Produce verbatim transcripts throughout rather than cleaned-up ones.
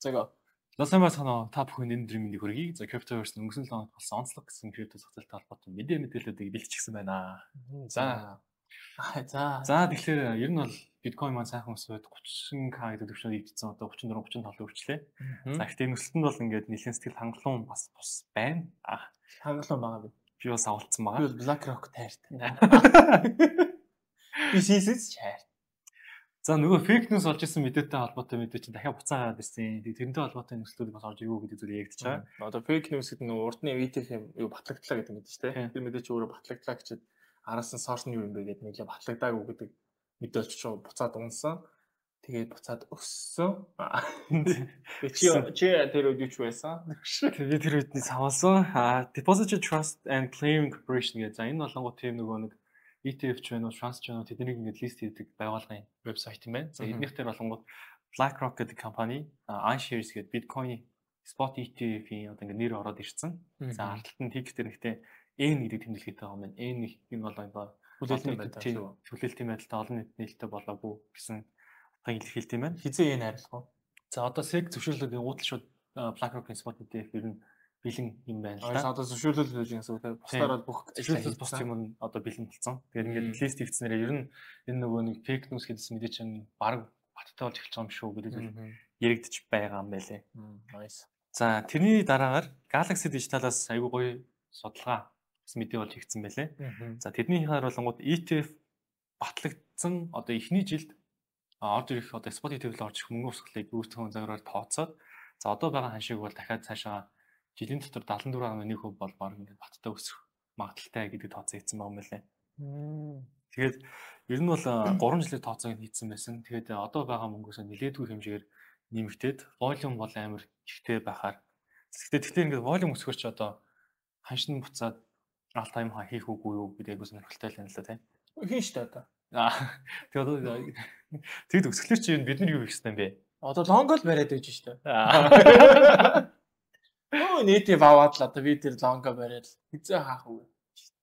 Зэго. Ласамаа санаа та бүхэн энэ өдрийн мэндийг хүргэе. За Cryptoverse өнгөрсөн лоног болсон онцлог гэсэн крипто зохицолтой холбоотой мэдээ мэдээллүүдийг бэлтгэсэн байна. За. За. За тэгэхээр ер нь бол биткойн маань сайхан өсөд thirty к гэдэг төвчнөд ивдсэн одоо thirty-four thirty-five хүрчлээ. За гэхдээ нөхцөлд бол ингээд нэлээд сэтгэл хангалуун бас бус байна. А хангалуун байгаа би. Би бас авалцсан байгаа. Би бол BlackRock тайртай. Би сисэс чаар. За нөгөө фейк ньюс олж исэн мэдээтэй холбоотой мэдээ чинь дахиад буцаагаад ирсэн. Тэрнтэй холбоотой нөхцлүүд бас орж ирүү гэдэг зүйл ягдчихаа. Одоо фейк ньюс гэдэг нь урдны И Ти Эф юу батлагдлаа гэдэг мэдээ шүү дээ. Тэр мэдээ чи өөрөө батлагдлаа гэчихэд араас нь сорс нь юу юм бэ гэдэг нэлээ батлагдаагүй гэдэг мэдээ олж чуу буцаад унсан. Тэгээд буцаад өссөн. Чи чи тэр үед юу байсан? Тэгээд тэр үедний савалсан. А Deposit Trust and Clearing Corporation гэдэг. За энэ болонгууд тийм нөгөө нэг И Ти Эф ч байна уу, Trust ч байна уу тэднийг ингээд лист хийдэг байгууллагын вебсайт юм байна. За эднийх дээр болонгууд BlackRock гэдэг компани, iShares гэдэг Bitcoin Spot И Ти Эф-ийн одоо ингээд нэр ороод ирсэн. За ардталт нь тик дээр нэгтэй N гэдэг тэмдэглэтэй байгаа юм байна. N нэг энэ бол одоо хүлээлтийн байдал шүү. Хүлээлтийн байдалтай олон нийт нээлттэй болоогүй гэсэн утгыг илэрхийлт юм байна. Хизээ энэ харилцах уу? За одоо сэг зөвшөөрлөд гутал шууд BlackRock-ийн Spot И Ти Эф ер нь бэлэн юм байна л да. Одоо зөвшөөрлөл гэж юм эсвэл бусдаар бол бүх зөвшөөрлөл бус юм нь одоо бэлэн болсон. Тэгэхээр ингээд лист хийгдснээр ер нь энэ нөгөө нэг фейк ньюс гэдсэн мэдээ чинь баг баттай болж эхэлж байгаа юм шүү гэдэг зүйл яригдчих байгаа юм байлээ. Nice. За тэрний дараагаар Galaxy Digital-аас айгүй гоё судалгаа бас мэдээ болж хийгдсэн байлээ. За тэдний харуулгууд И Ти Эф батлагдсан одоо эхний жилд орж ирэх одоо Spot И Ти Эф-д орж ирэх мөнгө урсгалыг өөрсдөө загвараар тооцоод за одоо байгаа ханшиг бол дахиад цаашаа жилийн дотор seventy-four point one percent бол баг ингээд баттай өсөх магадaltaй гэдэг тооцоо хийсэн байгаа юм байна. Тэгээд ер нь бол three жилийн тооцоог хийсэн байсан. Тэгээд одоо байгаа мөнгөөс нэлээдгүй хэмжээгээр нэмэгдээд volume бол амар ихтэй байхаар. Гэхдээ тэгэхээр ингээд volume өсгөрч одоо ханшин буцаад all time high хийх үгүй юу гэдэг айгуу сонирхолтой л юм л да тийм. Хийн штэ одоо. Аа тэгээд одоо тэгэд өсгөлөөр чи бид нар юу хийх ёстой юм бэ? Одоо лонгол бариад байж штэ. Аа. Оо нийтээ аваад л одоо би тэр лонго бариад хизээ хаах уу.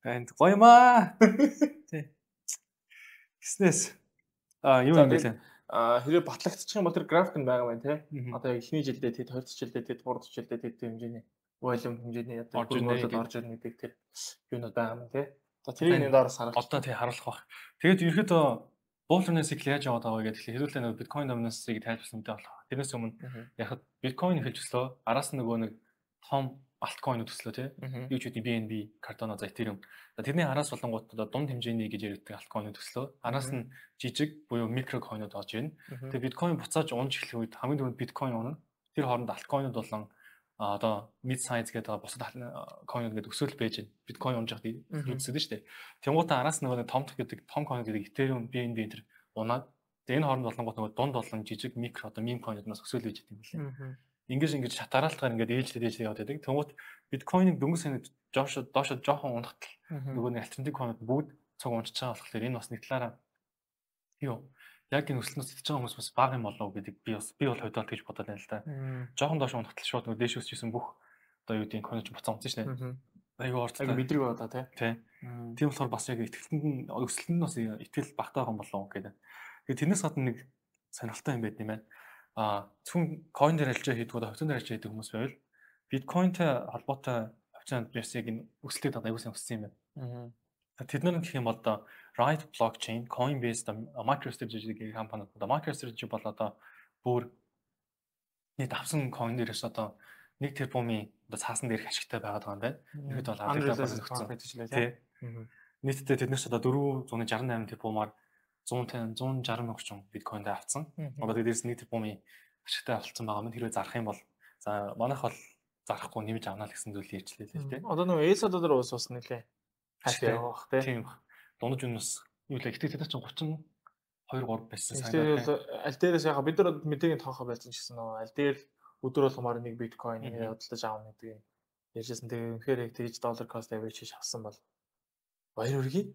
Энд гоё маа. Тий. Гиснэс. А юу юм бэ лээ? А хэрэг батлагдчих юм бол тэр график нь байгаа байна тий. Одоо эхний жилдээ тэд, хоёр дахь жилдээ тэд, гурав дахь жилдээ тэд хэмжээний volume хэмжээний одоо хөрмөлөд орж ирнэ гэдэг тэр юунууд байгаа юм тий. Одоо тэрийг нэг доороос харуулах. Одоо тий харуулах бах. Тэгээд ерөөдөө Bull-run-ыг яаж яваад байгаа вэ гэдэг хэлүүлээ нэг Bitcoin dominance-ыг тайлбарласан мэдээ болох. Тэрнээс өмнө яг Bitcoin хэлж өслөө. Араас нь нөгөө нэг том альткойнууд төслөө тий. Юу ч үгүй би эн би, Cardano, за Ethereum. За тэрний араас болонгууд одоо дунд хэмжээний гэж ярьдаг альткойнууд төслөө. Араас нь жижиг буюу микро койнууд орж ирнэ. Тэгээ биткойн буцааж унж эхлэх үед хамгийн түрүүнд биткойн унана. Тэр хооронд альткойнууд болон одоо mid size гэдэг бусад койнууд гэдэг өсөөл байж байна. Биткойн унж явах үзсэн шүү дээ. Тэнгуутаа араас нөгөө том гэдэг том койн гэдэг Ethereum, би эн би энэ унаад тэгээ энэ хооронд болонгууд нөгөө дунд болон жижиг микро одоо meme койнуудаас өсөөл байж байгаа юм билээ. Ингээс ингэж шатараалтаар ингээд ээлжлээд ээлжлээд яваад байдаг. Тэнгуут биткойныг дөнгөж санаад жоош доошо жоохон унахтал нөгөө нэг альтернатив койнууд бүгд цог унчиж байгаа болохоор энэ бас нэг талаараа юу яг энэ өсөлтнөөс идэж байгаа хүмүүс бас бага юм болов гэдэг би бас би бол хойдоолт гэж бодоод байна л да. Жоохон доошо унахтал шууд нөгөө дээш өсчихсэн бүх одоо юу гэдэг койнууд буцаа унсан шнэ. Айгу орцтой. Айгу мэдрэг болоо тий. Тийм болохоор бас яг итгэлтэнд нь өсөлтөнд бас итгэл багтаа байгаа юм болов гэдэг. Тэгээд тэрнээс гадна нэг сонирхолтой юм байд юм байна. А зөвхөн coin дээр ажиллаж хийдэг одоо хувьцаан дээр ажиллаж хийдэг хүмүүс байвал биткойнтэй холбоотой хувьцаанд бас яг энэ өсөлтөд одоо аюулсан өссөн юм байна. Тэд нар гэх юм бол одоо Right blockchain, Coinbase, MicroStrategy гэх компаниуд одоо MicroStrategy бол одоо бүр нийт авсан coin дээрээс одоо нэг тэрбумын одоо цаасан дээрх ашигтай байгаад байгаа юм байна. Ихэд бол алдартай болсон гэж тий. Нийтдээ тэднээс одоо four hundred sixty-eight тэрбумаар one hundred one hundred sixty орчим биткойнд авцсан. Одоо дээрээс нэг тэрбумын ашигтай болсон байгаа юм. Хэрвээ зарах юм бол за манайх бол зарахгүй нэмж авнаа л гэсэн зүйл ярьжлээ л тий. Одоо нөгөө эс доллар уус ус нэлээ хаштай явах тий. Тийм. Дундаж үнэс юу л ихтэй тэд чинь thirty-two three байсан санагдав. Тэгээд аль дээрээс яхаа бид нар мэдээгийн тоохоо байсан ч гэсэн нөгөө аль дээр өдөр болгомоор нэг биткойн худалдаж аавна гэдэг ярьжсэн. Тэгээ үнэхээр яг тэгж доллар cost average хийж авсан бол баяр үргэлээ.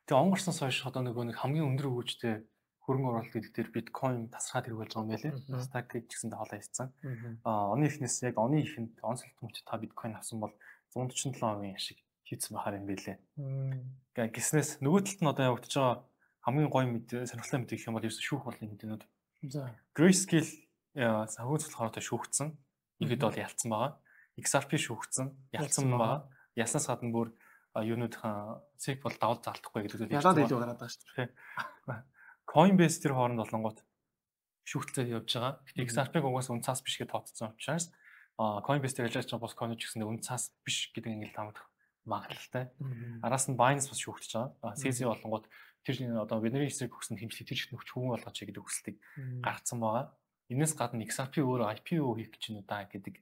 Тэгээ онгорсноос хойш одоо нөгөө нэг хамгийн өндөр хөгжтэй хөрөнгө оруулалт гэдэг дээр биткойн тасраад хэрэг болж байгаа юм байлээ. Nasdaq гэж гисэн хоолой хийсэн. Аа оны эхнээс яг оны ихэнд онцлог төмч та биткойн авсан бол one hundred forty-seven percent ашиг хийсэн бахаар юм байлээ. Гэ гиснээс нөгөө талд нь одоо явагдаж байгаа хамгийн гоё мэдээ сонирхолтой мэдээ гэх юм бол ерөөс шүүх болны мэдэнүүд. За. Grayscale яа санхүүц болохоор одоо шүүгдсэн. Ихэд бол ялцсан байгаа. икс ар пи шүүгдсэн, ялцсан байгаа. Ялснаас гадна бүр юунуудын цэг бол давал залтахгүй гэдэг зүйл. Ялаад илүү гараад байгаа шүү дээ. Coinbase тэр хооронд болонгууд шүүгтэлтэй явж байгаа. Гэтэ икс ар пиг угаас үн цаас биш гэж тооцсон учраас а Coinbase дээр ажиллаж байгаа бос coin ч гэсэн үн цаас биш гэдэг ингээд таамаглах магадлалтай. Араас нь Binance бас шүүгтэж байгаа. си си болонгууд тэр одоо бидний эсрэг өгсөн хэмжлэг тэр чинь хүч хөвөн болгооч гэдэг хүсэлтийг гаргацсан байгаа. Энээс гадна икс ар пи өөрөө ай пи о хийх гэж байна удаа гэдэг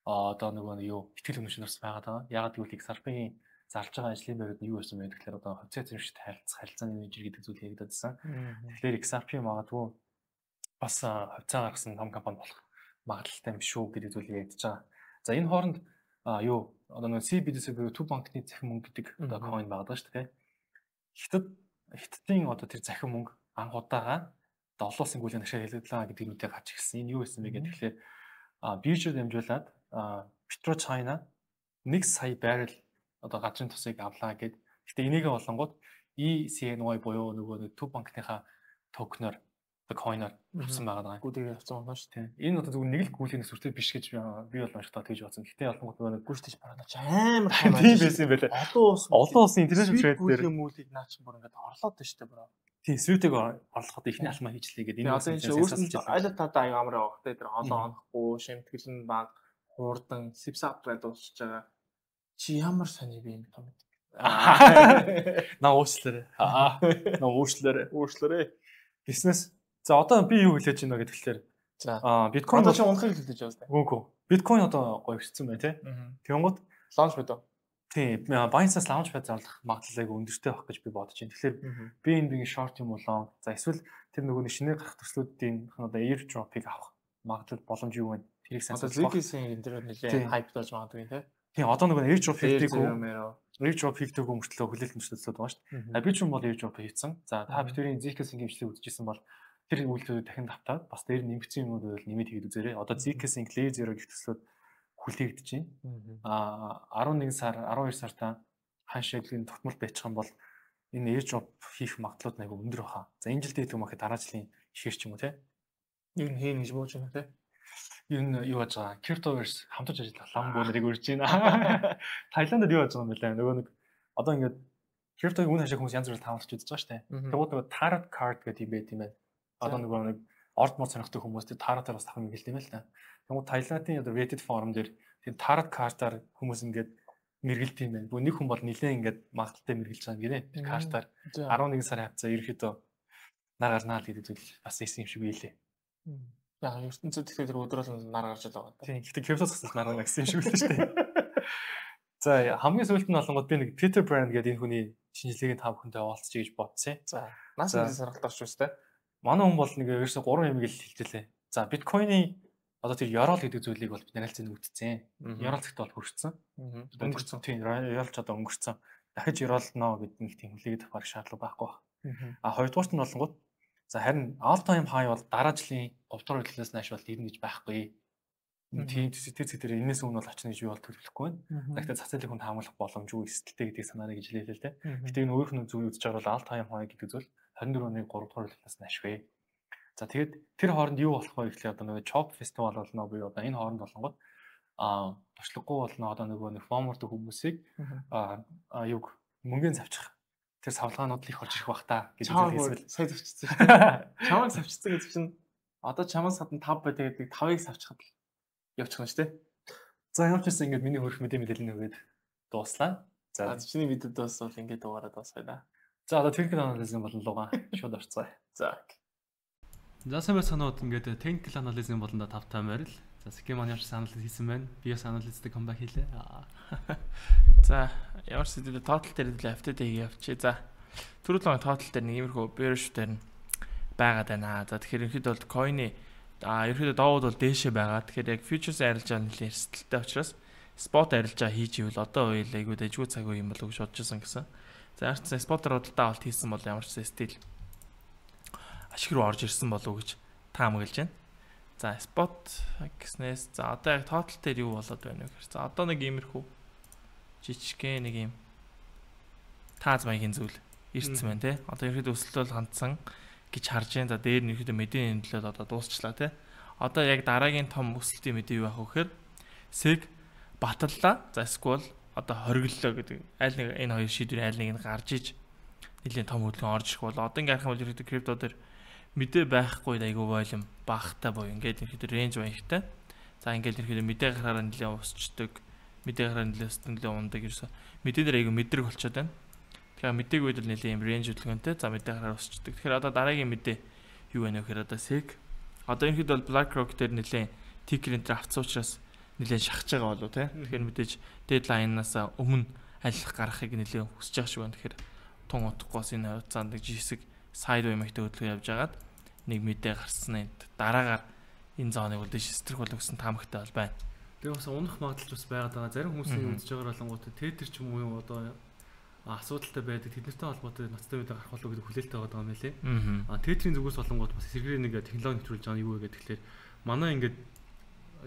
одоо нөгөө юу ихтгэл өнөмшнөөс байгаад байгаа. Ягаад гэвэл икс ар пи-ийн зарж байгаа ажлын байрууд нь юу байсан бэ гэхээр одоо хувьцаа эзэмшигт харилцах харилцааны менежер гэдэг зүйл яригдсан. Тэгэхээр икс ар пи магадгүй бас хувьцаа гаргасан том компани болох магадлалтай юм шүү гэдэг зүйл яригдж байгаа. За энэ хооронд юу одоо нөгөө си би ди эс буюу төв банкны захин мөнгө гэдэг одоо coin байгаа шүү дээ. Хятад хятадын одоо тэр захин мөнгө анх удаага одоо олон улсын гүйлэн ашиг хэлэлдлээ гэдэг нүдэ гарч ирсэн. Энэ юу байсан бэ гэхээр тэгэхээр биржээр дамжуулаад Petro China нэг сая баррел одоо газрын тусыг авлаа гэд. Гэтэ энийгээ болонгууд и си эн уай буюу нөгөө төв банкныхаа токеноор одоо coin-оор авсан байгаа. Гүдээ авсан байна шүү дээ. Энэ одоо зүгээр нэг л гүйлэний сүртэй биш гэж би бол уншихтаа тэгж бодсон. Гэтэ болонгууд нөгөө гүштэйч бараад амар тийм байсан юм байлаа. Олон улс олон улсын интернэшнл трейд дээр мүүлийг наа чи бүр ингээд орлоод байна шүү дээ бро. Тийм свитэг орлоход ихний алхмаа хийжлээ гэдэг. Энэ одоо энэ өөрсдөө айл тада аяга амар байгаа те тэр олон онохгүй шимтгэл нь баг хурдан сипсапраа дуусч байгаа. Чи ямар сони би юм том. На уучлаарай. Аа. На уучлаарай. Уучлаарай. Бизнес. За одоо би юу хэлэж байна гэхэлэр за аа биткойн одоо чи унахыг хэлж байгаа юм. Үгүй. Биткойн одоо гоё ирсэн байна тий. Тэгэнгუთ лаунч бод. Тийм. Binance-аас лаунч пад зарлах магадлалыг өндөртэй байх гэж би бодож байна. Тэгэхээр би энэ бигийн short юм болоо. За эсвэл тэр нөгөө шинээр гарах төслүүдийн одоо airdrop-ыг авах магадлал боломж юу вэ? Тэрийг сайн сонсох. Одоо зикийн энэ дээр нэлээд хайп болж байгаа юм тий. Тийм. Одоо нөгөө airdrop хийдэг үү? airdrop хийдэг өмөртлөө хүлээлт төслүүд байгаа шүү дээ. А би ч юм бол airdrop хийцэн. За та бидний зикийн хэмжлэг үзчихсэн бол тэр үйлдэлүүд дахин давтаад бас дээр нэмэгдсэн юмуд байвал нэмээд хийгээд үзээрэй. Одоо Zcash-ийн Layer Zero гэх төслүүд хүлээгдэж байна. Аа арван нэг сар, арван хоёр сартаа ханшаагийн тогтмол байчих юм бол энэ airdrop хийх магадлалууд айгүй өндөр баха. За энэ жилдээ хэлэх юм ахад дараа жилийн ихэр ч юм уу те. Юу н хийн гэж бууж байна те. Энэ юу яаж байгаа? Cryptoverse хамтарч ажиллах лам бөөнөрийг үрж байна. Таиландд юу яаж байгаа юм бэ? Нөгөө нэг одоо ингээд crypto-гийн үн хашиг хүмүүс янз бүрээр таамаглаж үзэж байгаа шүү дээ. Тэгвэл нөгөө tarot card гэдэг юм байт юм байна. Одоо нөгөө нэг орд мод сонирхдаг хүмүүс тэр таротоор бас тавхан хэлдэг юм л та. Тэгвэл Таиландын одоо Reddit форум дээр тэр тарот картаар хүмүүс ингээд мэргэлт юм байна. Бүгд нэг хүн бол нилээн ингээд магадaltaй мэргэлж байгаа юм гинэ. Тэр картаар арван нэг сарын хавцаа ерөөхдөө нар гарнаа л гэдэг зүйл бас ийсэн юм шиг байлээ. Яг ертөнцид тэгэхээр тэр өдрөөл нар гарч л байгаа. Тийм. Гэхдээ криптос гэсэн нар гарна гэсэн юм шиг байлээ шүү дээ. За хамгийн сүүлд нь болонгод би нэг Peter Brand гэдэг энэ хүний шинжилгээг та бүхэндээ овалцчих гэж бодсон. За наасан саргалт авч байна. Манай хүн бол нэг ерөөсө гурван юм гээл хэлжлээ. За биткойны одоо тэр Yorol гэдэг зүйлийг бол бид нарайлцсан үтцсэн. Yorol гэхдээ бол хөрчихсөн. Өнгөрцөн. Тийм, Yorol ч одоо өнгөрцөн. Дахиж Yorol ноо гэдэг нэг тийм хүлээгээд авах шаардлага байхгүй байна. А хоёрдугаарт нь болонгууд за харин all time high бол дараа жилийн говьдор хөдлөлөөс нааш бол ирнэ гэж байхгүй. Тийм тэр зэдэр энэс өмнө бол очно гэж би бол төлөвлөхгүй байна. Гэхдээ цацалыг хүн таамаглах боломжгүй эсэлтэй гэдэг санаарыг гэж хэлээ л дээ. Гэтэ энэ өөрийнх нь зүйл үзэж байгаа бол all time high гэдэг зүйл хорин дөрөв оны гурав дахь хөдлөлөөс нааш вэ. За тэгээд тэр хооронд юу болох вэ гэхлээр одоо нөгөө Chop Festival болно буюу одоо энэ хооронд болонгод аа туршлагагүй болно одоо нөгөө нэг фомордог хүмүүсийг аа юг мөнгөний завчих тэр савлгаанууд л их болж ирэх бах та гэж хэлсэн. Сайн завчсан шүү дээ. Чамайг завчсан гэдэг чинь одоо чамаас хатан тав бай тэгээд тавыг завчихад л явчих нь шүү дээ. За ямар ч гэсэн ингээд миний хөрөх мэдээ мэдээлэл нэгээд дууслаа. За чиний мэдээд дуусвал ингээд дугаараа дуусгая да. За одоо technical analysis болон лугаа шууд орцгоё. За. За сайн байцгаанууд ингээд technical analysis болон да тавтай байрал. За schema analysis analysis хийсэн байна. Би бас analysis-тэй comeback хийлээ. За ямар ч зүйл total дээр л автодэйг явчих. За түрүүлэн total дээр нэг иймэрхүү bearish дээр байгаад байна. За тэгэхээр ерөнхийдөө бол coin-ы а ерөнхийдөө доовод бол дээшээ байгаа. Тэгэхээр яг futures арилж байгаа нэлээд эрсдэлтэй учраас spot арилж байгаа хийж ивэл одоо үйл айгуу дэжгүй цаг үе юм болов гэж бодож байсан гэсэн. За ямар ч спотер бодлоо авалт хийсэн бол ямар ч стил ашиг руу орж ирсэн болов гэж таамаглаж байна. За spot гэснээс за одоо яг total дээр юу болоод байна вэ гэхээр за одоо нэг иймэрхүү жижигхэн нэг юм тааз маягийн зүйл ирсэн байна те. Одоо ерөөдөө өсөлтөл хандсан гэж харж байна. За дээр нь ерөөдөө мэдээний нөлөөлөл одоо дуусчлаа те. Одоо яг дараагийн том өсөлтийн мэдээ юу байх вэ гэхээр сэг баталлаа. За эсвэл одоо хориглолоо гэдэг аль нэг энэ хоёр шийдвэрийн аль нэг нь гарч иж нэлийн том хөдөлгөөн орж ирэх бол одоо ингээд харах юм бол ерөөдөө крипто дээр мэдээ байхгүй айгүй волюм багтай боё ингээд ерөөдөө рейнж баяртай. За ингээд ерөөдөө мэдээ гарахаараа нэлийн усчдаг, мэдээ гарахаараа нэлийн усдаг нэлийн ундаг ерөөсөө мэдээ дээр айгүй мэдрэг болчиход байна. Тэгэхээр мэдээг үед л нэлийн рейнж хөдөлгөөнтэй. За мэдээ гарахаараа усчдаг. Тэгэхээр одоо дараагийн мэдээ юу байна вэ гэхээр одоо сэг одоо ерөөдөө бол BlackRock дээр нэлийн тикер энэ төр авцсан учраас нэлийн шахаж байгаа болов те. Тэгэхээр мэдээж дедлайнаас өмнө алих гарахыг нэлийн хүсэж байгаа шүү. Тэгэхээр тун утгахгүйс энэ хугацаанд жисэг сайд баймагтай хөдөлгөөн явж агаад нэг мэдээ гарснаа дараагаар энэ зооныг үлдээж стрэх болов гэсэн таамагтай бол байна. Тэгээ бас унах магадлал бас байгаад байгаа. Зарим хүмүүсийн үзэж байгаа болонгууд тетер ч юм уу одоо асуудалтай байдаг. Тэднэртэй холбоотой ноцтой мэдээ гарах болов гэдэг хүлээлттэй байгаа юм лээ. Аа тетрийн зүгээс болонгууд бас сэргэрээ нэг технологи нэвтрүүлж байгаа юу вэ гэдэг тэгэхээр манай ингээд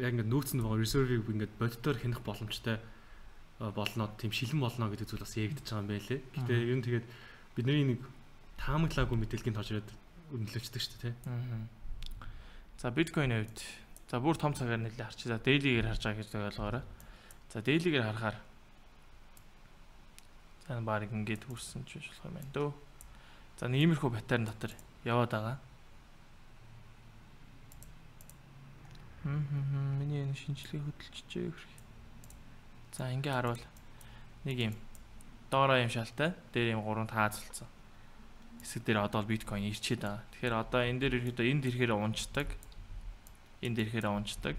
яг ингээд нөөцөнд байгаа reserve-ийг ингээд боддоор хянах боломжтой болно, тийм шилэн болно гэдэг зүйл бас ягдж байгаа юм байлээ. Гэтэ ер нь тэгээд бидний нэг таамаглаагүй мэдээллийн тооч ирээд өнлөвчдөг шүү дээ, тий. За биткойн хувьд за бүр том цагаар нэлээд харчих. За daily-гээр харж байгаа гэж ойлгоорой. За daily-гээр харахаар за баг ингээд хүрсэн ч болох юм байна дөө. За нэг иймэрхүү паттерн дотор яваад байгаа. Хм миний энэ шинжилгээ хөдөлчихжээ гэх. За ингээ харуул нэг юм доороо юм шалтай дээр юм гурван таазалцсан. Хэсэг дээр одоо биткойн ирчээд байгаа. Тэгэхээр одоо энэ дээр ирэхэд энд ирэхээр унцдаг. Энд ирэхээр унцдаг.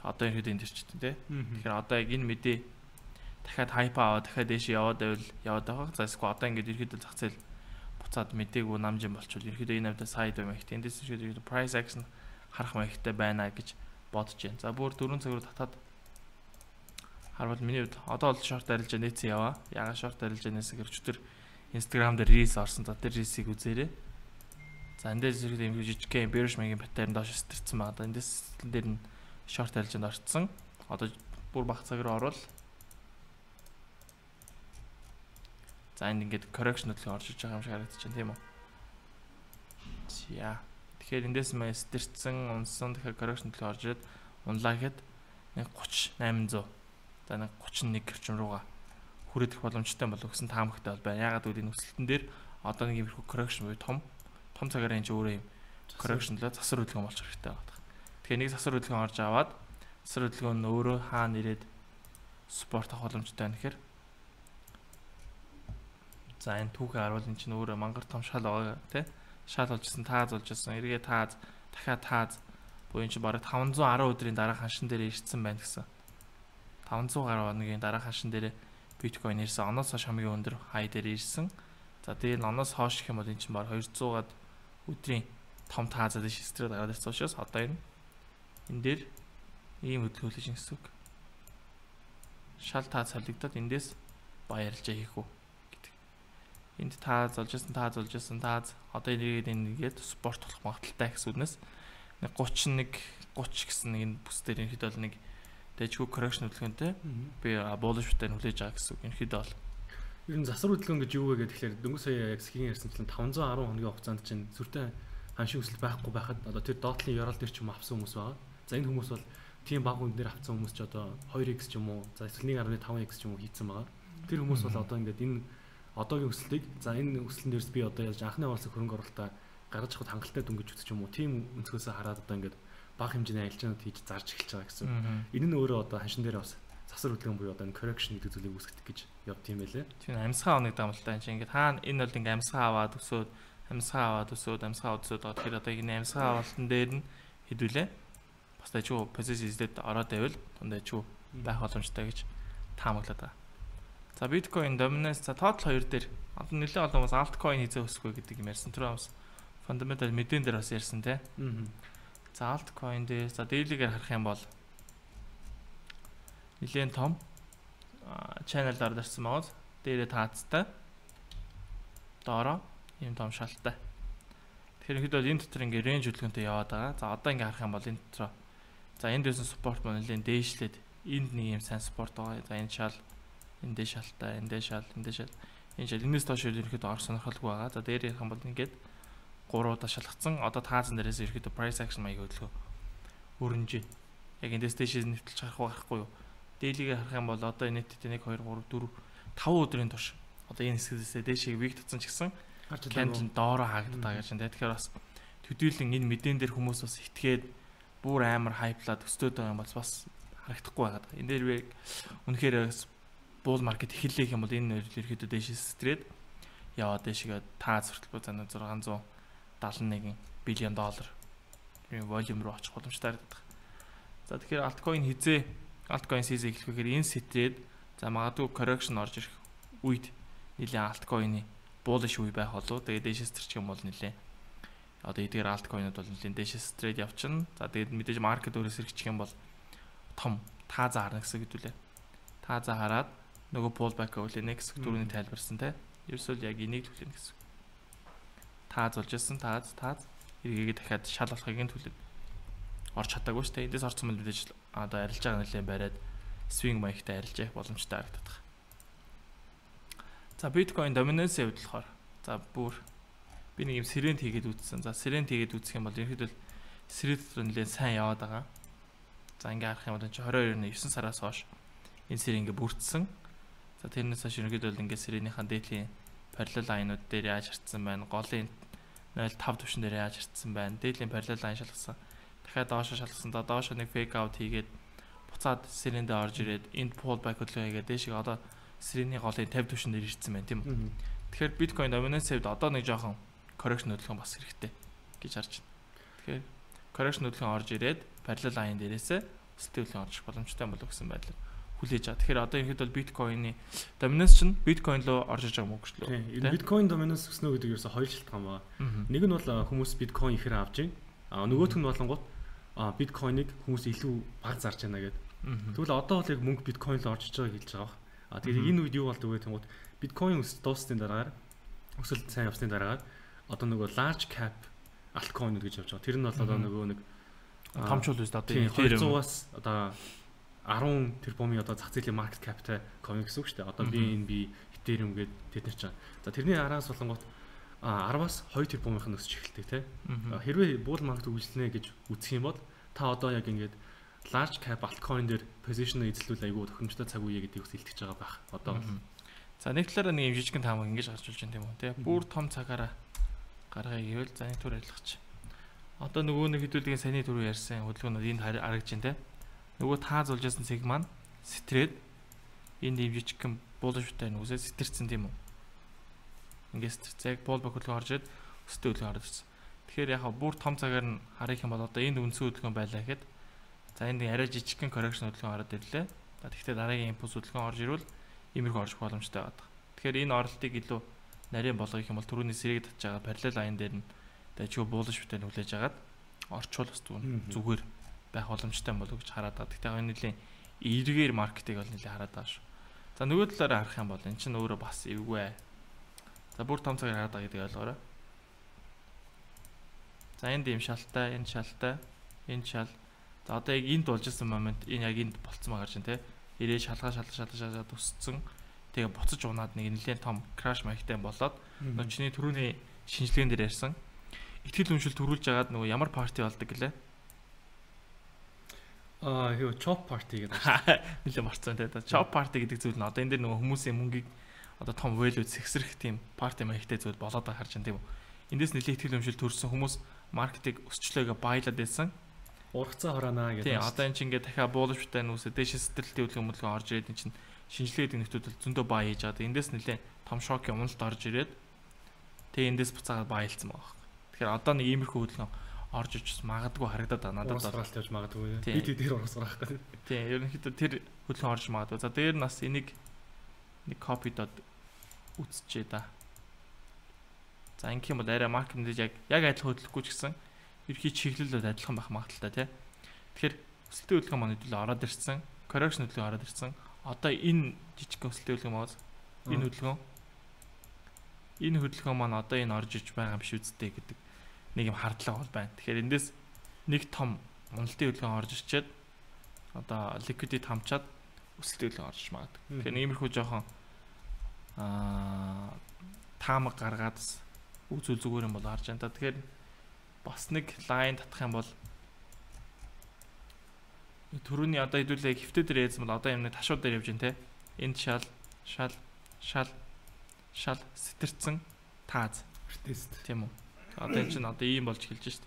Одоо ирэхэд энд ирчдэг тий. Тэгэхээр одоо яг энэ мэдээ дахиад хайп аваад дахиад дэш яваад байвал яваад байгаа. За эсвэл одоо ингээд ирэхэд зах зээл буцаад мдээгүй намжин болчихвол ирэхэд энэ авда сайд байх. Эндээс ирэхэд price action харах маягтай байна гэж бодож байна. За бүр дөрвөн цаг руу татаад харвал миний хувьд одоо бол short арилжаа нээсэн яваа. Ягаад short арилжаа нээсэн гэж өчтөр Instagram дээр reels орсон. За тэр reels-ийг үзээрэй. За эндээс ирэхэд юм жижигхэн bearish магийн паттерн доош стэрсэн байгаа. Эндээс дээр нь short арилжаанд орцсон. Одоо бүр бага цаг руу орвол за энд ингээд correction хөдөлгөөн орж иж байгаа юм шиг харагдаж байна тийм үү? За тэгэхээр эндээс мэ стэрсэн, унсан тэгэхээр correction хөдөлгөөн орж ирээд унлаа гэхэд нэг гуч восемь зуун за нэг гуч нэг орчим руугаа хүрэх боломжтой болов гэсэн таамагтай бол байна. Ягаад гэвэл энэ өсөлтөн дээр одоо нэг иймэрхүү correction буюу том том цагаар энэ өөрөө юм correction лөө засвар хөдөлгөөн болж хэрэгтэй байгаа. Тэгэхээр нэг засвар хөдөлгөөн орж аваад засвар хөдөлгөөн нь өөрөө хаана ирээд спорт авах боломжтой байна гэхээр за энэ түүхээ харуул энэ чинь өөрөө мангар том шал байгаа тий. Шал болжсэн, тааз болжсэн, эргээ тааз, дахиад тааз буюу чи бараг таван зуун арван өдрийн дараа ханшин дээр ирсэн байна гэсэн. таван зуун гаруй хоногийн дараа ханшин дээр биткойн ирсэн. Оноос хойш хамгийн өндөр хай дээр ирсэн. За дээр нь оноос хойш гэх юм бол энэ чинь бараг хоёр зуугаад өдрийн том таазад шистрээд гараад ирсэн учраас одоо энэ энэ дээр ийм хөдөлгөөлж гэсэн үг. Шал тааз солигдоод эндээс баярлжаа хийх үү. Энд тааз олжсэн, тааз олжсэн, тааз одоо энийгээд энийгээд спорт болох магадaltaй гэсэн үгнээс нэг гуч нэг гуч гэсэн нэг энэ бүс дээр ерөнхийдөө бол нэг дэжгүй correction хөдөлгөөнтэй би bullish паттерн хүлээж байгаа гэсэн үг. Ерөнхийдөө бол ер нь засвар хөдөлгөөн гэж юу вэ гэхээр тэгэхээр дөнгөж сая яг сгийн ярьсанчлан таван зуун арван хоногийн хугацаанд чинь сүртэй ханшийн өсөлт байхгүй байхад одоо тэр доотлын ёроол дээр ч юм авсан хүмүүс байгаа. За энэ хүмүүс бол тийм баг үн дээр авсан хүмүүс ч одоо two x ч юм уу за эсвэл one point five x ч юм уу хийцэн байгаа. Тэр хүмүүс бол одоо ингээд энэ одоогийн өсөлтийг за энэ өсөлтөн дээрс би одоо яаж анхны улсын хөрөнгө оруулалтаа гаргаж авах хангалттай дүнгиж үзэж юм уу тийм өнцгөөсөө хараад одоо ингээд бага хэмжээний аялжаанууд хийж зарж эхэлж байгаа гэсэн. Энэ нь өөрөө одоо ханшин дээр бас засвар хөдөлгөөн буюу одоо энэ correction гэдэг зүйлийг үүсгэх гэж явт юм байлээ. Тийм амьсгаа оног дамлалтай чинь ингээд хаана энэ бол ингээд амьсгаа аваад өсөөд амьсгаа аваад өсөөд амьсгаа өсөөд байгаа. Тэгэхээр одоо энэ амьсгаа авалтан дээр нь хэдүүлээ бас дайчгүй позишн эзлээд ороод байвал дайчгүй байх боломжтой гэж таамаглаад байгаа. За биткойн доминанс за total хоёр дээр одоо нэлээд олон хүмүүс altkcoin хизээ өсөхгүй гэдэг юм ярьсан. Тэр бас fundamental мэдэн дээр бас ярьсан тий. За altkcoin дээр за daily-гээр харах юм бол нэлээд том channel дардарсан байгаа. Дээрээ таацтай. Доороо ийм том шалтай. Тэгэхээр хэд бол энэ дотор ингээ range хөдөлгөөнтэй яваад байгаа. За одоо ингээ харах юм бол энэ дотор за энд дэсэн support маань нэлээд дээшлээд энд нэг юм сайн support байгаа. За энэ шал эндээ шалтай, эндээ шал, эндээ шал. Энэ шал энэс доош ерөнхийдөө ор сонирхолгүй байгаа. За дээр ярих юм бол ингээд гуруудаа шалгацсан. Одоо таазан дээрээс ерөнхийдөө price action маяг хөдөлгөө хөрөнж байна. Яг эндээс дэшээс нэвтэлж харах байхгүй юу? Дээлигээ харах юм бол одоо энэ нийтдээ нэг хоёр гурав дөрөв таван өдрийн турш одоо энэ хэсгээс дэшийг виг татсан ч гэсэн кандл доороо хаагддаг гэж байна. Тэгэхээр бас төдийлөн энэ мэдэн дээр хүмүүс бас итгээд бүр амар хайплаад өстөөд байгаа юм бол бас харагдахгүй байгаад. Энэ дээр би үнэхээр bull market эхэллэх юм бол энэ ерөөхдөө дэшээс стрээд яваад дэшигээ таа зөртөл зан зургаан зуун даална нэгэн биллион доллар энэ волюм руу очих боломжтой байдаг. За тэгэхээр altcoin хизээ altcoin season эхлэх гэхээр энэ стрээд за магадгүй correction орж ирэх үед нэлээд altcoin-ы bullish үе байх болов. Тэгээд дэшээс төрчих юм бол нэлээд одоо эдгээр altcoin-ууд бол нэлээд дэшээс трейд явчихна. За тэгээд мэдээж market өөрөөс сэргийчих юм бол том тааза харна гэсэн хэдүүлээ. Тааза хараад нөгөө pullback үлээнэ гэсэн дөрөвний тайлбарсан те. Ерөөсөө яг энийг түлхэнэ гэсэн. Тааз болж ирсэн тааз тааз эргээгээ дахиад шал болохыг нь түлэн. Орч чадаагүй шүү дээ. Эндээс орсон мэл мэдээж одоо арилж байгаа нэлээд бариад swing маягтай арилж явах боломжтой харагдах. За биткойн доминанс явд болохоор за бүр би нэг юм сэрент хийгээд үзсэн. За сэрент хийгээд үзэх юм бол ерөнхийдөө сэрент нэлээд сайн яваад байгаа. За ингээ харах юм бол чи тwenty-two оны nine сараас хойш энэ сэр ингээ бүрдсэн. За тэрнээс хойш ерөнхийдөө ингээ сэрийнхаа дээдлийн parallel line-ууд дээр яаж харцсан байна? Голын zero point five түвшин дээр яаж харцсан байна? Дээдлийн parallel line шалгасан. Дахиад доошо шалгасан. Доошо нэг fake out хийгээд буцаад сэрэндээ орж ирээд энд pullback хөдөлгөөн хийгээд дээшээ одоо сэрийн голын fifty түвшин дээр ирсэн байна тийм үү? Тэгэхээр биткойн доминанс хэвд одоо нэг жоохон correction хөдөлгөөн бас хэрэгтэй гэж харж байна. Тэгэхээр correction хөдөлгөөн орж ирээд parallel line дээрээсээ өсөлтийн хөдөлгөөн орж боломжтой болов гэсэн байдлаар хүлээж байгаа. Тэгэхээр одоо ихэд бол биткойны доминанс чинь биткойн руу орж иж байгаа юм уу гэж лөө. Тийм. Энэ биткойн доминанс өснө гэдэг ерөөсө хоёр шалтгаан байна. Нэг нь бол хүмүүс биткойн ихээр авж байна. А нөгөөх нь болонгууд а биткойныг хүмүүс илүү баг зарж байна гэдэг. Тэгвэл одоо бол яг мөнгө биткойн руу орж иж байгааг хэлж байгаа. А тэгээд энэ үед юу болдог вэ гэвэл биткойн өс дуусны дараагаар өсөлт сайн явсны дараагаар одоо нөгөө large cap altcoin гэж явж байгаа. Тэр нь бол одоо нөгөө нэг томчул үст одоо two hundred-аас одоо ten тэрбумын одоо зах зээлийн market capтай coin гэсэн үг шүү дээ. Одоо би энэ би Ethereum гээд тэд нар чинь. За тэрний араас болонгот ten-аас two тэрбумынх нь өсч эхэлдэг тий. Хэрвээ bull market үргэлжлэнэ гэж үзэх юм бол та одоо яг ингээд large cap altcoin дээр position эзлүүл айгүй тохиромжтой цаг үе гэдгийг бас илтгэж байгаа байх. Одоо за нэг талаараа нэг юм жижигхэн таамаг ингэж гарч болж байна тийм үү тий. Бүр том цагаараа гаргая гэвэл за нэг төр арилгач. Одоо нөгөө нэг хэдүүлгийн саяны түрүү ярьсан хөдөлгөөнүүд энд харагдаж байна тий. Нөгөө тааз болж байсан цэг маань стрээд энд ийм жижигхэн булштай нүсээ сэтэрсэн тийм үү. Ингээд сэтэрцэг булбак хөдөлгөөн орж ирээд өсөлтөө хөдөлгөөн орж ирсэн. Тэгэхээр яг бүр том цагаар нь харах юм бол одоо энд үндсэн хөдөлгөөн байлаа гэхэд за энд арай жижигхэн correction хөдөлгөөн ороод ирлээ. За тэгвэл дараагийн импульс хөдөлгөөн орж ирвэл иймэрхүү орж боломжтой байдаг. Тэгэхээр энэ оролтыг илүү нарийн болгох юм бол түрүүний сэрэг татж байгаа parallel line дээр нь дайчгүй булш битэй нүлээж агаад орчвол бас зүгээр байх боломжтой болов гэж хараад байгаа. Тэгтээ энэ нэлийн эргээр маркетыг бол нэлээ хараад байгаа шүү. За нөгөө талаараа харах юм бол эн чинь өөрөө бас эвгүй. За бүр том цагаар хараад байгаа гэдэг ойлгоорой. За энд ийм шалтай, энэ шалтай, энэ шал. За одоо яг энд болж исэн момент энэ яг энд болцсон байгаа чинь тий. Ирээ шалгаа шалгаа шалгаа шалгаа тусцсан. Тэгээ буцаж унаад нэг нэлээд том краш маягтай болоод нөчний түрүүний шинжилгээнд дээр ярьсан. Итгэл үншил төрүүлж агаад нөгөө ямар парти болдог гэлээ. Аа юу chop party гэдэг. Нэлээ марцсан тий. Chop party гэдэг зүйл нь одоо энэ дээр нөгөө хүмүүсийн мөнгийг одоо том value сэгсрэх тийм парти маягтай зүйл болоод байгаа харж байна тийм үү. Эндээс нэлээд итгэл үншил төрсэн хүмүүс маркетинг өсчлөөгээ баялаад байсан. Ургацаа хороонаа гэдэг. Тийм одоо энэ чинь ингээд дахиад буулштай нүсээ дээш сэтгэлтэй хөдөлгөөн хөдөлгөөн орж ирээд энэ чинь шинжилгээдэг нөтөд зөндөө баа хийж байгаа. Эндээс нэлээд том шокийн уналт орж ирээд тэгээ эндээс буцаагаад баялцсан байгаа. Тэгэхээр одоо нэг иймэрхүү хөдөлгөөн орж иж магадгүй харагдаад байгаа надад бол ургацаалт явж магадгүй. Бид дээр ургацаах гэх. Тийм ерөнхийдөө тэр хөдөлгөөн орж магадгүй. За дээр нас энийг нэг копи дод үтсчээ да. За ингэх юм бол арай маркетинг яг яг адилхан хөдөлгөхгүй ч гэсэн ерхий чиглэлүүд адилхан байх магадaltaй тий. Тэгэхээр өсөлтийн хөдөлгөөн маань хэдүүлээ ороод ирсэн. Correction хөдөлгөөн ороод ирсэн. Одоо энэ жижиг өсөлтийн хөдөлгөөн маас энэ хөдөлгөөн энэ хөдөлгөөн маань одоо энэ орж иж байгаа юм биш үсттэй гэдэг нэг юм хардлага бол байна. Тэгэхээр эндээс нэг том уналтын хөдөлгөөн орж ирчээд одоо liquidity хамчаад өсөлтийн хөдөлгөөн орж магадгүй. Тэгэхээр иймэрхүү жоохон аа таамаг гаргаад үзүүл зүгээр юм бол харж байна та. Тэгэхээр бас нэг лайн татах юм бол Төрөний одоо хэдүүлээ хөвтө дээр яасан бол одоо юм нэг ташууд дээр явж байна те. Энд шал шал шал шал сэтэрсэн тааз. Тест. Тийм үү. Одоо энэ чинь одоо ийм болж эхэлж шít.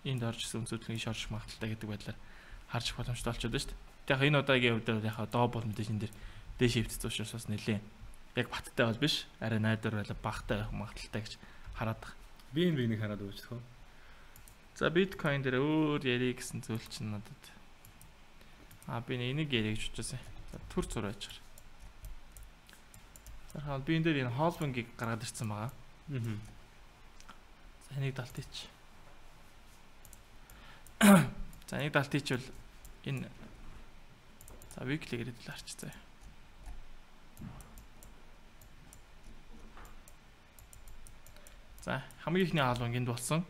Энд орж исэн өнцөдлөгийн шорш магталтай гэдэг байдлаар харж боломжтой болчиход байна шít. Яг энэ удаагийн хувьд яг доо бол мэдээж энэ дэр дээш хөвцөж учраас бас нэлээ. Яг баттай бол биш. Арай найдвар байла багтай магталтай гэж хараад байна. Би энэ биенийг хараад өгч тохоо. За биткойн дээр өөр ярих гэсэн зүйл чинь надад. Аа би энийг ярих гэж бодчихсон. За төр зур байж гар. За би энэ дээр энэ холбингийг гаргаад ирсэн байгаа. Аа. За энийг далтыч. За энийг далтыч бол энэ за weekly гэдэг л арчцаа. За хамгийн ихний хаалбанг энд болсон.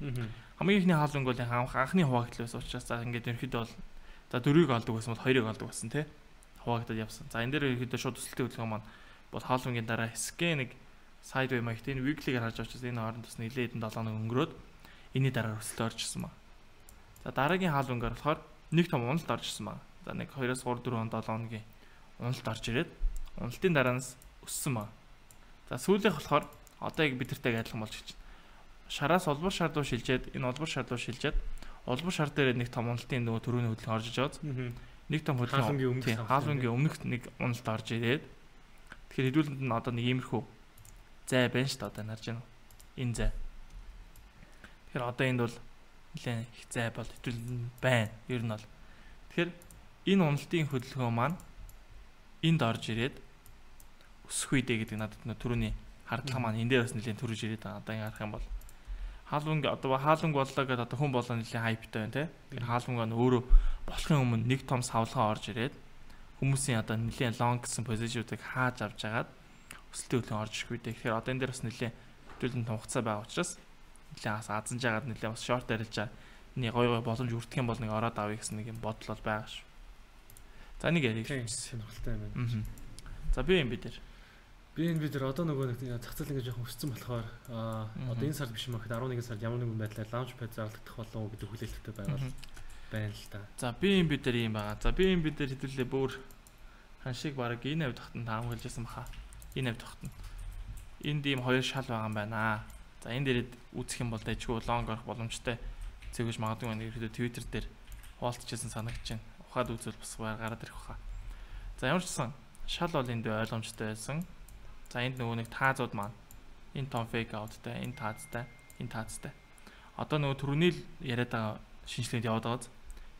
Аа. Хамгийн ихний хаалбанг бол анхны хуваагдал байсан учраас за ингээд ерөөхдөө бол за дөрвийг олдог байсан бол хоёрыг олдог байсан тий. Хуваагдаад явсан. За энэ дээр ерөөхдөө шууд төсөлтийн хөдөлгөөн маань бол хаалбангийн дараа scan нэг sideway маягт энэ weekly-гээр харж очиж энэ хооронд бас нэлээд хэдэн долоо хоног өнгөрөөд энэний дараа өсөлт орж ирсэн ба. За дараагийн хаалбангаар болохоор нэг том уналт орж ирсэн ба. За нэг хоёроос гурав дөрөв долоо хоногийн уналт орж ирээд уналтын дараанаас өссөн ба. За сүүлийнх болохоор одоо яг бидэртэйг адилхан болж ирж байна. Шараас олбор шар руу шилжээд энэ олбор шар руу шилжээд олбор шар дээр нэг том уналтын нөгөө төрөний хөдөлгөөн орж иж байгаа. Нэг том хөдөлгөөн хаалбангийн өмнөх нэг уналт орж ирээд тэгэхээр хэдүүлэнд нь одоо нэг иймэрхүү зай байна шүү дээ одоо харж байна. Энэ зай. Тэгэхээр одоо энд бол нэлээд их зай бол хэдүүлэнд байна. Ер нь бол. Тэгэхээр энэ уналтын хөдөлгөөн маань энд орж ирээд өсөх үедээ гэдэг надад нөгөө төрөний хардлага маань энэ дээр бас нэлээд төрөж ирээд байгаа. Одоо ингэ харах юм бол хаалбанг одоо хаалбанг боллоо гэдэг одоо хүн болоо нэлээд хайптай байна те. Тэгэхээр хаалбанг нь өөрөө болохын өмнө нэг том савлгаа орж ирээд хүмүүсийн одоо нэлээд лонг гэсэн позишнуудыг хааж авч агаад өсөлтийн хөдөлгөөн орж ирэх үедээ. Тэгэхээр одоо энэ дээр бас нэлээд хөдөлгөөн том хугацаа байгаа учраас нэлээд бас азанж агаад нэлээд бас шорт арилж байгаа. Нэг гой гой боломж үрдэх юм бол нэг ороод авъя гэсэн нэг юм бодол бол байгаа шүү. За нэг ярих сонирхолтой юм байна. За би юм бид нар Би энэ бид нар одоо нөгөө нэг зах зээл ингэж жоохон өссөн болохоор аа одоо энэ сард биш юм ахэд арван нэгэн сард ямар нэгэн байдлаар лаунчпад зарлагдах болов уу гэдэг хүлээлттэй байгаа байна л да. За би энэ бид нар юм байгаа. За би энэ бид нар хэдүүлээ бүр ханшиг баг энэ авд тогтон таамаглажсэн баха. Энэ авд тогтон. Энд ийм хоёр шал байгаа юм байна. За энэ дээрэд үүсэх юм бол дэжгүй лонг орох боломжтой зэгэж магадгүй байна. Ерөөдөө Twitter дээр хуваалцчихсан санагдаж байна. Ухаад үзвэл бас гараад ирэх баха. За ямар ч гэсэн шал бол энд ойлгомжтой байсан. За энд нөгөө нэг таазууд маань энэ том fake outтай, энэ таазтай, энэ таазтай. Одоо нөгөө түрүүний л яриад байгаа шинжилгээнд яваад байгааз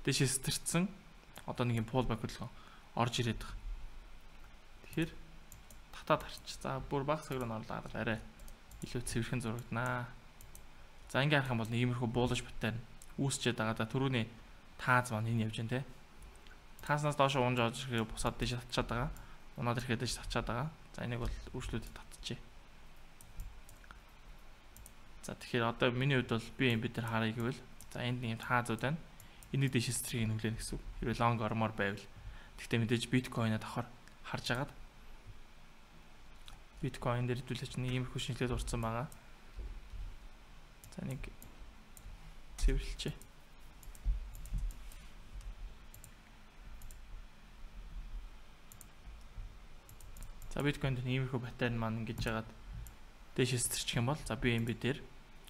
дэшээ сэтэрсэн одоо нэг юм pullback хөдөлгөөн орж ирээд байгаа. Тэгэхээр татаад харч. За бүр баг цаг руу орлоо арай илүү цэвэрхэн зурагданаа. За ингээ харах юм бол нэг иймэрхүү bullish pattern үүсчээд байгаа. За түрүүний тааз маань энэ явж байна те. Тааснаас доош унж орж ирэхээр бусаад дэшээ татчаад байгаа. Унаад ирэхэд дэшээ татчаад байгаа. За энийг бол үржлүүдэд татчихъя. За тэгэхээр одоо миний хувьд бол би юм бид нар харъя гэвэл за энд нэг юм таазууд байна. Энийг дэшээс зэрэг нүглэнэ гэсэн үг. Хэрвээ лонг ормоор байвал. Гэхдээ мэдээж биткойноо давхар харж агаад биткойн дээр хэдүүлээч нэг иймэрхүү шинжилгээ дурдсан байгаа. За нэг цэвэрлэлчээ. За биткойнд иймэрхүү паттерн маань ингэж жагаад дэшээс зэрчих юм бол за би эм би дээр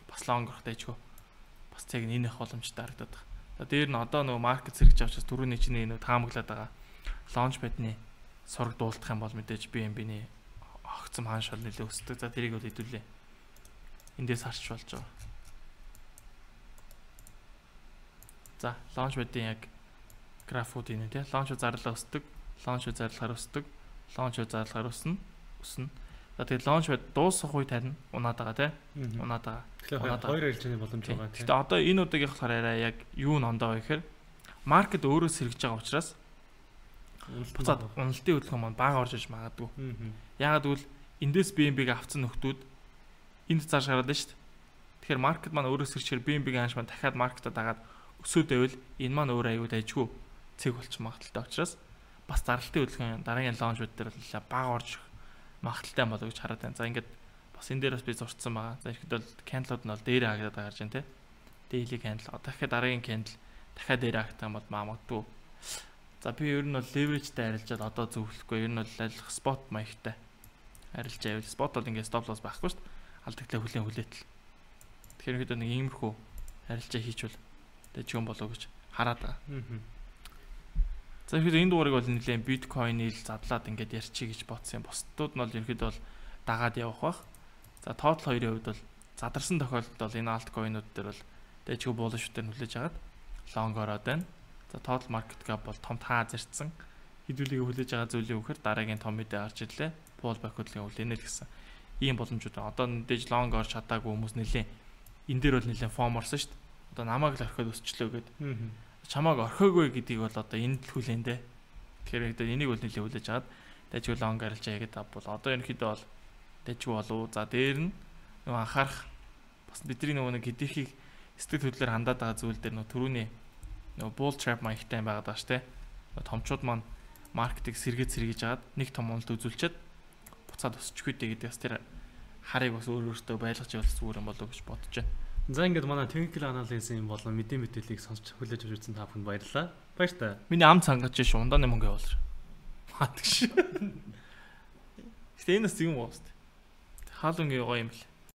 бас лонг орох дэжгүй бас яг энэ их боломжтой харагдаад байна. За дээр нь одоо нөгөө маркет зэрэгж авчаас түрүүний чинь нөгөө таамаглаад байгаа лаунчпадны сураг дуулдах юм бол мэдээж би эм би-ний огцом хаан шал нэлээ өсдөг. За тэрийг бол хэдүүлээ. Эндээс харч болж байгаа. За лаунчпадын яг графууд энэ тий лаунчпад зарлаа өсдөг, лаунчпад зарлахаар өсдөг. Лаунчпад зарлахаар өснө, өснө. За тэгээд лаунчпад дуусах үе тарина унаад байгаа тий. Унаад байгаа. Тэгэхээр хоёр арилжааны боломж байгаа тий. Гэтэ одоо энэ удаагийн болохоор арай яг юу н ондоо вэ гэхээр маркет өөрөө сэргэж байгаа учраас буцаад уналтын хөдөлгөөн маань бага орж иж магадгүй. Яагаад гэвэл эндээс би эм би-г авцсан нөхдүүд энд цааш гараад байна шүү дээ. Тэгэхээр маркет маань өөрөө сэрчээр би эм би-г хааш маань дахиад маркетаа дагаад өсөөд байвал энэ маань өөр аюул дайжгүй цэг болчих магадaltaй учраас бас зарлалтын хөдөлгөөн дараагийн лаунчуд дээр л бага орж магадaltaй болоо гэж хараад байна. За ингээд бас энэ дээр бас би зурцсан байгаа. За ихэд бол кэндлууд нь бол дээрээ хагадаад гарч байна те. daily candle. Дахиад дараагийн candle дахиад дээр актаа бол магадгүй. За би ер нь бол leverage-тэй арилжаад одоо зөвлөхгүй. Ер нь бол алих spot маягтай арилж байвал spot бол ингээд stop loss байхгүй шүү дээ. Алдагдлаа хүлэн хүлээтэл. Тэгэхээр хэд нэг иймэрхүү арилжаа хийчихвэл тэг ч юм болоо гэж хараад байгаа. За ихэд энэ дугаарыг бол нэлээд биткойн ил задлаад ингээд ярьчих гэж бодсон юм. Бусдууд нь бол ерхэд бол дагаад явах бах. За total хоёрын хувьд бол задарсан тохиолдолд бол энэ altkcoin-ууд дээр бол дэжгүй bullish дээр хүлээж агаад long ороод байна. За total market cap бол том таа зарцсан. Хэдүүлгийг хүлээж байгаа зүйлийн үхээр дараагийн том мэдээ гарч ирлээ. Pullback хөдөлгөөн хүлээнэ л гэсэн. Ийм боломжууд байна. Одоо дэж long орж чадаагүй хүмүүс нэлээд энэ дээр бол нэлээд form орсон шүү дээ. Одоо намайг л орхиод өсчлөө гэд. Чамааг орхиогүй гэдгийг бол одоо энд л хүлээнэ. Тэгэхээр одоо энийг бол нэлээд хүлээж агаад дэжгүй long арилжаа гэдэг бол одоо ерөнхийдөө бол дэжгүй болов. За дээр нь нөгөө анхаарах бас бидний нөгөө нэг хэдийхийг сэтгэл хөдлөлөөр хандаад байгаа зүйл дээр нөгөө түрүүний нөгөө bull trap маягтай байгаад байгаа шүү дээ. Томчууд маань маркетинг сэргээд сэргийж агаад нэг том уналт үзүүлчихэд буцаад өсчихгүй дээ гэдэг бас тэр харыг бас өөр өөртөө байлгаж явуулах зүгээр юм болов уу гэж бодож байна. За ингээд манай technical analysis-ийн болон мэдээ мэдээллийг сонсч хүлээж авч үзсэн та бүхэнд баярлалаа. Баяртай. Миний ам цангаж ш ундааны мөнгө явуулж. Хаадаг ш. Гэтэ энэ бас юм уу? Хаалунгийн гоё юм бэл.